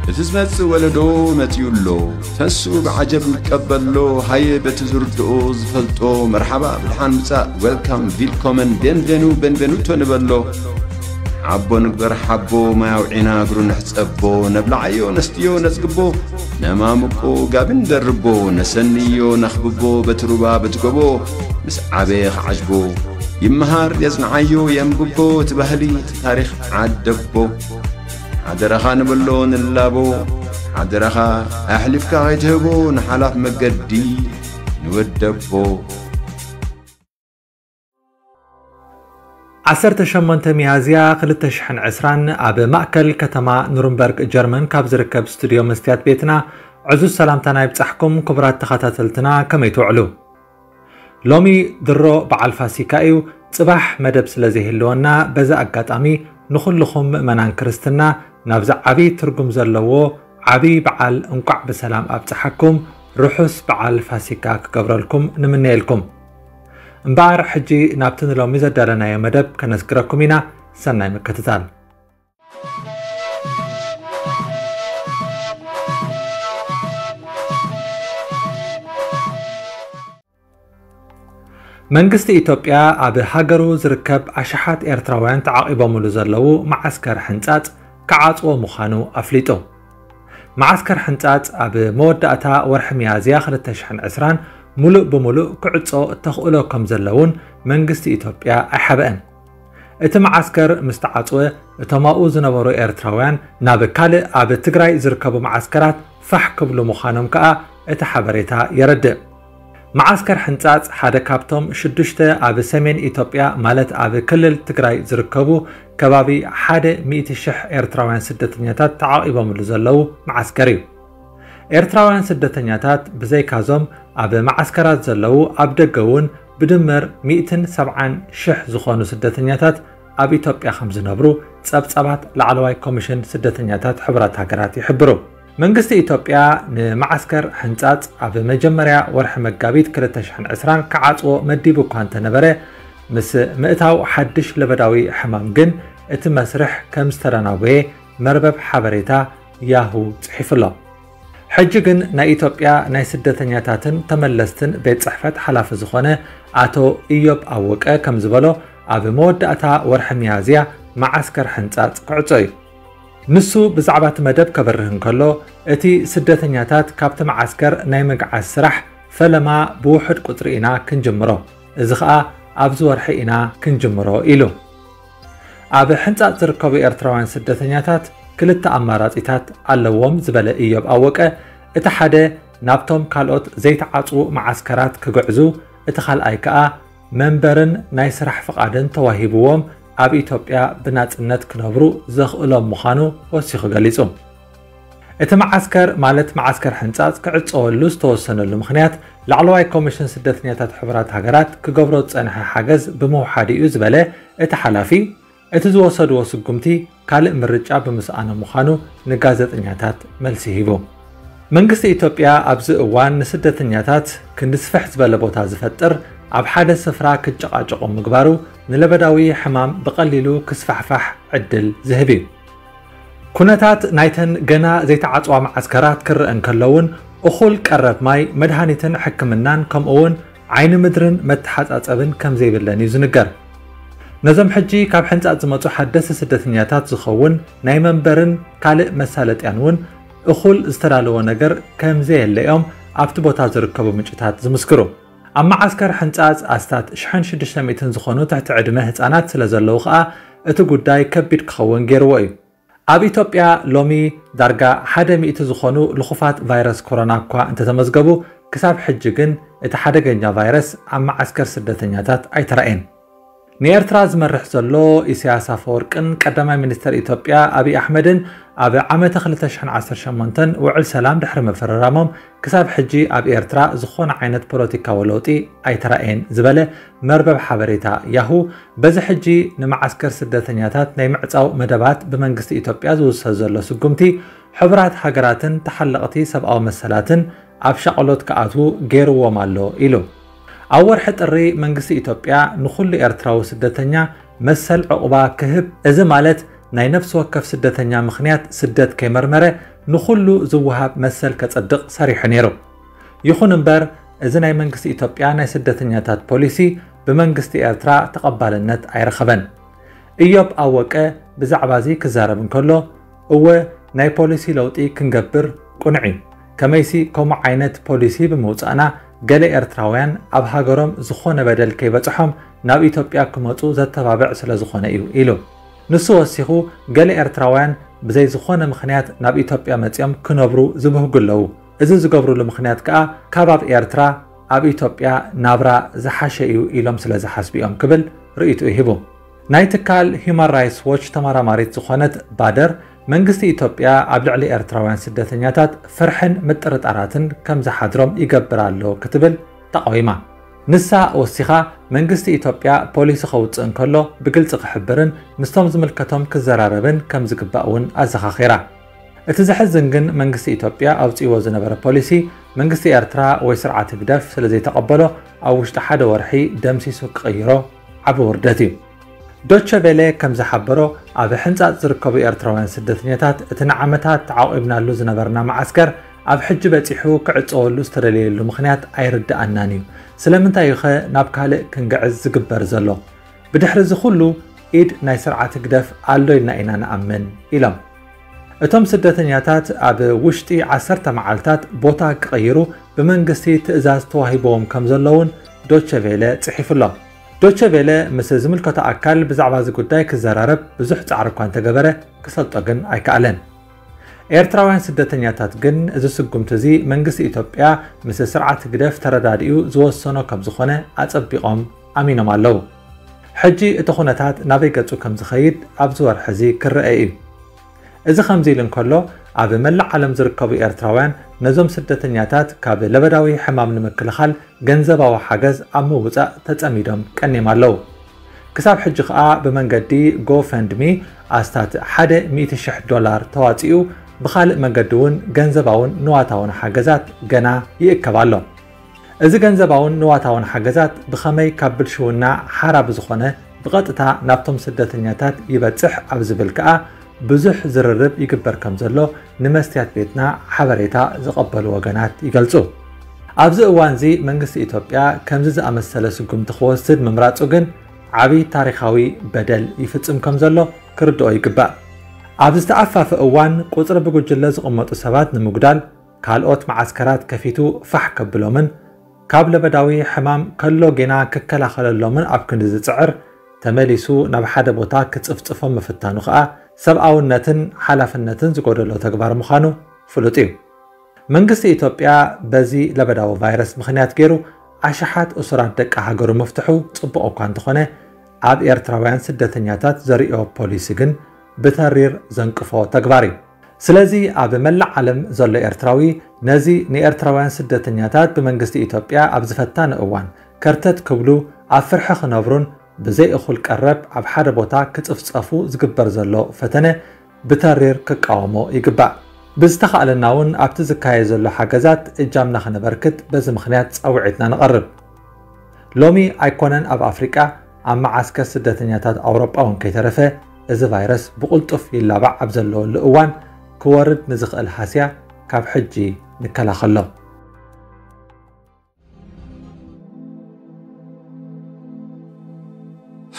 እቲ ዝመጽእ ወለዶ መጺኡ ኣሎ። ተሱ ብዓጀብ ይቀበሎ። ሃየ በቲ ዝርድኦ ዝፈልጦ መርሓባ ብድሓን ምጻእ፣ ዌልካም፣ ቪልኮመን፣ ቤንቬኑ፣ ቤንቬኑቶ ንበሎ። ሓቦ ንግበር ሓቦ፣ ማይ ኣውዒና እግሩ ንሕጸቦ። ነብልዓዮ ነስትዮ ነጽግቦ፣ ነማምቆ ጋቢ ንደርቦ። ነሰንዮ ነኽብቦ በቲ ሩባ በቲ ጎቦ፣ ምስ ዓበየ ክዓጅቦ። ይመሃር የጽንዓዮ የንብቦ፣ እቲ ባህሊ እቲ ታሪኽ ዓደቦ። ሓደራኻ ንብሎ ንላቦ፣ ሓደራኻ ኣሕሊፍካ ከይትህቦ ንሓላፍ መገዲ ንወደቦ። ዓሰርተ ሸሞንተ ሚያዝያ ክልተ ሽሕን ዕስራን ኣብ ማእከል ከተማ ኑርንበርግ ጀርመን ካብ ዝርከብ ስቱድዮ መስትያት ቤትና ዕዙዝ ሰላምታና ይብጻሕኩም ክቡራት ተኸታተልትና፣ ከመይ ትውዕሉ? ሎሚ ድሮ በዓል ፋሲካ እዩ። ጽባሕ መደብ ስለ ዘይህልወና፣ በዚ ኣጋጣሚ ንኹልኹም ምእመናን ክርስትና ናብዚ ዓቢ ትርጉም ዘለዎ ዓቢ በዓል እንቋዕ ብሰላም ኣብጽሓኩም፣ ርሑስ በዓል ፋሲካ ክገብረልኩም ንምነየልኩም። እምበኣር፣ ሕጂ ናብቲ ንሎሚ ዘዳለናዮ መደብ ከነስግረኩም ኢና። ሰናይ ምክትታል። መንግስቲ ኢትዮጵያ ኣብ ሃገሩ ዝርከብ ኣሽሓት ኤርትራውያን ተዓቒቦምሉ ዘለዉ መዓስከር ሕንጻጽ ክዓጽዎ ምዃኑ ኣፍሊጡ። መዓስከር ሕንጻጽ ኣብ መወዳእታ ወርሒ ሚያዝያ ክልተ ሽሕን ዕስራን ሙሉእ ብሙሉእ ክዕጾ ተኽእሎ ከም ዘለውን መንግስቲ ኢትዮጵያ ኣይሓበአን። እቲ መዓስከር ምስ ተዓጽወ፣ እቶም ኣብኡ ዝነበሩ ኤርትራውያን ናብ ካልእ ኣብ ትግራይ ዝርከቡ መዓስከራት ፋሕ ክብሉ ምዃኖም ከኣ እቲ ሓበሬታ የረድእ። መዓስከር ሕንጻጽ ሓደ ካብቶም ሽዱሽተ ኣብ ሰሜን ኢትዮጵያ፣ ማለት ኣብ ክልል ትግራይ ዝርከቡ ከባቢ ሓደ ሚእቲ ሽሕ ኤርትራውያን ስደተኛታት ተዓቒቦምሉ ዘለዉ መዓስከር እዩ። ኤርትራውያን ስደተኛታት ብዘይካዞም ኣብ መዓስከራት ዘለዉ፣ ኣብ ደገ እውን ብድምር ሚእትን ሰብዓን ሽሕ ዝኾኑ ስደተኛታት ኣብ ኢትዮጵያ ከም ዝነብሩ ጸብጻባት ላዕለዋይ ኮሚሽን ስደተኛታት ሕቡራት ሃገራት ይሕብሩ። መንግስቲ ኢትዮጵያ ንመዓስከር ሕንጻጽ ኣብ መጀመርያ ወርሒ መጋቢት ክልተ ሽሕን ዕስራን ክዓጽዎ መዲቡ እኳ እንተነበረ፣ ምስ ምእታው ሓድሽ ለበዳዊ ሕማም ግን እቲ መስርሕ ከም ዝተደናጎየ መርበብ ሓበሬታ ያሁ ጽሒፉ ኣሎ። ሕጂ ግን ናይ ኢትዮጵያ ናይ ስደተኛታትን ተመለስትን ቤት ጽሕፈት ሓላፊ ዝኾነ ኣቶ ኢዮብ ኣወቀ ከም ዝበሎ፣ ኣብ መወዳእታ ወርሒ ሚያዝያ መዓስከር ሕንጻጽ ክዕጾ እዩ። ንሱ ብዛዕባ እቲ መደብ ከበርህ እንከሎ፣ እቲ ስደተኛታት ካብቲ መዓስከር ናይ ምግዓዝ ስራሕ ፈለማ ብውሑድ ቁጽሪ ኢና ክንጅምሮ፣ እዚ ኸኣ ኣብዚ ወርሒ ኢና ክንጅምሮ ኢሉ። ኣብ ሕንጻጽ ዝርከቡ ኤርትራውያን ስደተኛታት ክልተ ኣማራጺታት ኣለዎም ዝበለ ኢዮብ ኣወቀ፣ እቲ ሓደ ናብቶም ካልኦት ዘይተዓጽዉ መዓስከራት ክግዕዙ፣ እቲ ካልኣይ ከኣ መንበርን ናይ ስራሕ ፍቓድን ተዋሂብዎም ኣብ ኢትዮጵያ ብናጽነት ክነብሩ ዘኽእሎም ምዃኑ ወሲኹ ገሊጹ። እቲ መዓስከር፣ ማለት መዓስከር ሕንጻጽ ክዕጸወሉ ዝተወሰነሉ ምኽንያት፣ ላዕለዋይ ኮሚሽን ስደተኛታት ሕቡራት ሃገራት ክገብሮ ዝጸንሐ ሓገዝ ብምውሓዱ እዩ ዝበለ እቲ ሓላፊ፣ እቲ ዝወሰድዎ ስጉምቲ ካልእ ምርጫ ብምስኣኖም ምዃኑ ንጋዜጠኛታት መልሲ ሂቡ። መንግስቲ ኢትዮጵያ ኣብዚ እዋን ንስደተኛታት ክንዲ ስፍሕ ዝበለ ቦታ ዝፈጥር ኣብ ሓደ ስፍራ ክጨቓጨቑ ምግባሩ ንለበዳዊ ሕማም ብቐሊሉ ክስፋሕፋሕ ዕድል ዝህብ እዩ። ኩነታት ናይተን ገና ዘይተዓጽዋ መዓስከራት ክረአ እንከሎ እውን፣ እኹል ቀረብ ማይ፣ መድሃኒትን ሕክምናን፣ ከምኡ እውን ዓይኒ ምድርን መተሓጻጸብን ከም ዘይብለን እዩ ዝንገር። ነዞም ሕጂ ካብ ሕንጻጽ ዝመጹ ሓደስቲ ስደተኛታት ዝኸውን ናይ መንበርን ካልእ መሳለጥያን እውን እኹል ዝተዳለወ ነገር ከም ዘየለ እዮም ኣብቲ ቦታ ዝርከቡ ምንጭታት ዝምስክሩ። ኣብ መዓስከር ሕንጻጽ ኣስታት ሽሕን ሽዱሽተ ሚእትን ዝኾኑ ትሕቲ ዕድመ ህጻናት ስለ ዘለዉ ከኣ፣ እቲ ጉዳይ ከቢድ ክኸውን ገይርዎ እዩ። ኣብ ኢትዮጵያ ሎሚ ዳርጋ ሓደ ሚእቲ ዝኾኑ ልኹፋት ቫይረስ ኮሮና እኳ እንተተመዝገቡ፣ ክሳብ ሕጂ ግን እቲ ሓደገኛ ቫይረስ ኣብ መዓስከር ስደተኛታት ኣይተራእየን። ንኤርትራ ዝመርሕ ዘሎ ኢሳያስ ኣፈወርቅን ቀዳማይ ሚኒስተር ኢትዮጵያ ኣብይ ኣሕመድን ኣብ ዓመተ ክልተ ሽሕን ዓሰርተ ሸሞንተን ውዕል ሰላም ድሕሪ ምፍርራሞም፣ ክሳብ ሕጂ ኣብ ኤርትራ ዝኾነ ዓይነት ፖለቲካዊ ለውጢ ኣይተራእየን ዝበለ መርበብ ሓበሬታ ያሁ፣ በዚ ሕጂ ንመዓስከር ስደተኛታት ናይ ምዕጻው መደባት ብመንግስቲ ኢትዮጵያ ዝውሰድ ዘሎ ስጉምቲ፣ ሕቡራት ሃገራትን ተሓለቕቲ ሰብኣዊ መሰላትን ኣብ ሻቕሎት ክኣትዉ ገይርዎም ኣሎ ኢሉ። ኣብ ወርሒ ጥሪ መንግስቲ ኢትዮጵያ ንኹሉ ኤርትራዊ ስደተኛ መሰል ዕቑባ ክህብ፣ እዚ ማለት ናይ ነፍሲ ወከፍ ስደተኛ ምኽንያት ስደት ከይመርመረ ንኹሉ ዝወሃብ መሰል ከጸድቕ ሰሪሑ ነይሩ። ይኹን እምበር፣ እዚ ናይ መንግስቲ ኢትዮጵያ ናይ ስደተኛታት ፖሊሲ ብመንግስቲ ኤርትራ ተቐባልነት ኣይረኸበን። እዮብ ኣወቀ ብዛዕባ እዚ ክዛረብ እንከሎ፣ እወ፣ ናይ ፖሊሲ ለውጢ ክንገብር ቅኑዕ እዩ። ከመይሲ፣ ከምኡ ዓይነት ፖሊሲ ብምውጻእና፣ ገለ ኤርትራውያን ኣብ ሃገሮም ዝኾነ በደል ከይበጽሖም ናብ ኢትዮጵያ ክመጹ ዘተባብዕ ስለ ዝኾነ እዩ ኢሉ። ንሱ ወሲኹ፣ ገለ ኤርትራውያን ብዘይ ዝኾነ ምኽንያት ናብ ኢትዮጵያ መጺኦም ክነብሩ ዝብህጉ ኣለዉ። እዚ ዝገብሩሉ ምኽንያት ከኣ፣ ካብ ኣብ ኤርትራ ኣብ ኢትዮጵያ ናብራ ዝሓሸ እዩ ኢሎም ስለ ዝሓስቡ እዮም ክብል ርእይትኡ ሂቡ። ናይ ትካል ሂዩማን ራይትስ ዎች ተመራማሪት ዝኾነት ባደር፣ መንግስቲ ኢትዮጵያ ኣብ ልዕሊ ኤርትራውያን ስደተኛታት ፍርሕን ምጥርጣራትን ከም ዝሓድሮም ይገብር ኣሎ ክትብል ተቓዊማ። ንሳ ወሲኻ፣ መንግስቲ ኢትዮጵያ ፖሊሲ ከውጽእ እንከሎ ብግልጺ ክሕብርን ምስቶም ዝምልከቶም ክዘራረብን ከም ዝግባእ እውን ኣዘኻኺራ። እቲ ዘሕዝን ግን መንግስቲ ኢትዮጵያ ኣውጺእዎ ዝነበረ ፖሊሲ መንግስቲ ኤርትራ ወይ ስርዓት ህግደፍ ስለ ዘይተቐበሎ ኣብ ውሽጢ ሓደ ወርሒ ደምሲሱ ክቕይሮ ዓቢ ውርደት እዩ። ዶቸ ቬለ ከም ዝሓበሮ ኣብ ሕንጻጽ ዝርከቡ ኤርትራውያን ስደተኛታት እቲ ንዓመታት ተዓቒብናሉ ዝነበርና መዓስከር ኣብ ሕጂ በጺሑ ክዕጸወሉ ዝተደለየሉ ምኽንያት ኣይርድኣናን እዩ። ስለምንታይ እዩ ኸ ናብ ካልእ ክንግዕዝ ዝግበር ዘሎ? ብድሕሪ እዚ ኩሉ ኢድ ናይ ስርዓት ህግደፍ ኣሎ ኢልና ኢና ንኣምን ኢሎም። እቶም ስደተኛታት ኣብ ውሽጢ ዓሰርተ መዓልታት ቦታ ክቕይሩ ብመንግስቲ ትእዛዝ ተዋሂብዎም ከም ዘለውን ዶቸ ቬለ ጽሒፉ ኣሎ። ዶቸ ቬለ ምስ ዝምልከቶ ኣካል ብዛዕባ እዚ ጉዳይ ክዘራረብ ብዙሕ ጻዕሪ እኳ እንተገበረ ክሰልጦ ግን ኣይከኣለን። ኤርትራውያን ስደተኛታት ግን እዚ ስጉምቲ እዚ መንግስቲ ኢትዮጵያ ምስ ስርዓት ህግደፍ ተረዳዲኡ ዝወሰኖ ከም ዝኾነ ኣጸቢቖም ኣሚኖም ኣለዉ። ሕጂ እቲ ኩነታት ናበይ ገጹ ከም ዝኸይድ ኣብዚ ወርሒ እዚ ክረአ እዩ። እዚ ከምዚ ኢሉ እንከሎ፣ ኣብ መላእ ዓለም ዝርከቡ ኤርትራውያን ነዞም ስደተኛታት ካብ ለበዳዊ ሕማም ንምክልኻል ገንዘባዊ ሓገዝ ኣብ ምውጻእ ተጸሚዶም ቀኒዮም ኣለዉ። ክሳብ ሕጂ ከኣ ብመንገዲ ጎፈንድሚ ኣስታት ሓደ ሚእቲ ሽሕ ዶላር ተዋጺኡ፣ ብኻልእ መገዲ እውን ገንዘባውን ንዋታውን ሓገዛት ገና ይእከብ ኣሎ። እዚ ገንዘባውን ንዋታውን ሓገዛት ብኸመይ ካብ ብልሽውና ሓራ ብዝኾነ ብቐጥታ ናብቶም ስደተኛታት ይበጽሕ ኣብ ዝብል ከኣ ብዙሕ ዝርርብ ይግበር ከም ዘሎ ንመስትያት ቤትና ሓበሬታ ዝቐበሉ ወገናት ይገልጹ። ኣብዚ እዋንዚ መንግስቲ ኢትዮጵያ ከምዚ ዝኣመሰለ ስጉምቲ ክወስድ ምምራጹ ግን ዓቢ ታሪኻዊ በደል ይፍጽም ከም ዘሎ ክርድኦ ይግባእ። ኣብ ዝተኣፋፈ እዋን ቁጽሪ ብጉጅለ ዝቕመጡ ሰባት ንምጉዳል ካልኦት መዓስከራት ከፊቱ ፋሕ ከብሎምን ካብ ለበዳዊ ሕማም ከሎ ጌና ክከላኸለሎምን ኣብ ክንዲ ዝጽዕር፣ ተመሊሱ ናብ ሓደ ቦታ ክጽፍጽፎም ምፍታኑ ከኣ ሰብኣውነትን ሓላፍነትን ዝጎደሎ ተግባር ምዃኑ ፍሉጥ እዩ። መንግስቲ ኢትዮጵያ በዚ ለበዳዊ ቫይረስ ምኽንያት ገይሩ ኣሽሓት እሱራት ደቂ ሃገሩ ምፍትሑ ጽቡቕ እኳ እንተኾነ፣ ኣብ ኤርትራውያን ስደተኛታት ዘርእዮ ፖሊሲ ግን ብተሪር ዘንቅፎ ተግባር እዩ። ስለዚ ኣብ መላእ ዓለም ዘሎ ኤርትራዊ ነዚ ንኤርትራውያን ስደተኛታት ብመንግስቲ ኢትዮጵያ ኣብዚ ፈታኒ እዋን ከርተት ክብሉ፣ ኣብ ፍርሒ ክነብሩን ብዘይ እኹል ቀረብ ኣብ ሓደ ቦታ ክጽፍጸፉ ዝግበር ዘሎ ፈተነ ብተሪር ክቃወሞ ይግባእ። ብዝተኻእለና እውን ኣብቲ ዝካየድ ዘሎ ሓገዛት እጃምና ክነበርክት በዚ ምኽንያት ጻውዒትና ንቐርብ። ሎሚ ኣይኮነን ኣብ ኣፍሪቃ፣ ኣብ መዓስከር ስደተኛታት ኣውሮጳ እውን ከይተረፈ፣ እዚ ቫይረስ ብቕልጡፍ ይላባዕ ኣብ ዘለወሉ እዋን ክወርድ ንዝኽእል ሃስያ ካብ ሕጂ ንከላኸሎ።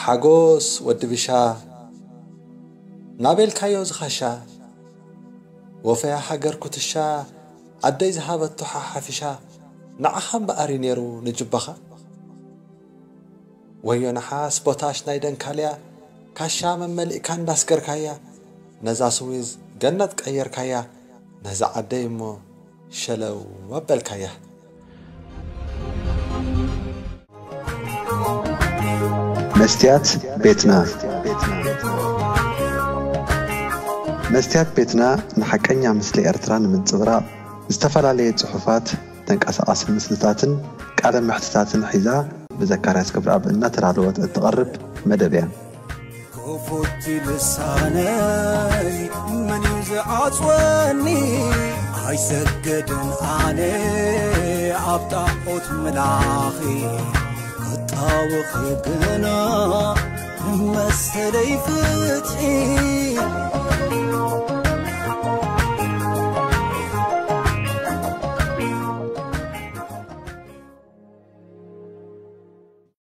ሓጎስ ወዲ ብሻ፣ ናበልካዮ ዝኸሻ፣ ወፈያ ሃገር ኩትሻ፣ ኣደይ ዝሃበቶ ሓሓፊሻ፣ ንዓኻ እምበኣር እዩ ነይሩ ንጅባኻ። ወዮ ንሓስ ቦታሽ ናይ ደንካልያ፣ ካሻ መመሊእካ እንዳስገርካያ፣ ነዛ ስዊዝ ገነት ቀየርካያ፣ ነዛ ዓደይ እሞ ሸለው ኣበልካያ። መስትያት ቤትና። መስትያት ቤትና ንሓቀኛ ምስሊ ኤርትራ ንምንጽብራቕ ዝተፈላለየ ጽሑፋት፣ ተንቀሳቓሲ ምስልታትን ቃለ መሕትታትን ሒዛ ብዘካርያስ ገብረኣብ እናተዳለወት እትቐርብ መደብ እያ። ክፉት ልሳነይ መን እዩ ዝዓጽወኒ? ኣይሰግድን ኣነ ኣብ ጣዖት ምላኺ፣ ክጣወኺ ግና መሰለይ ፍትሒ።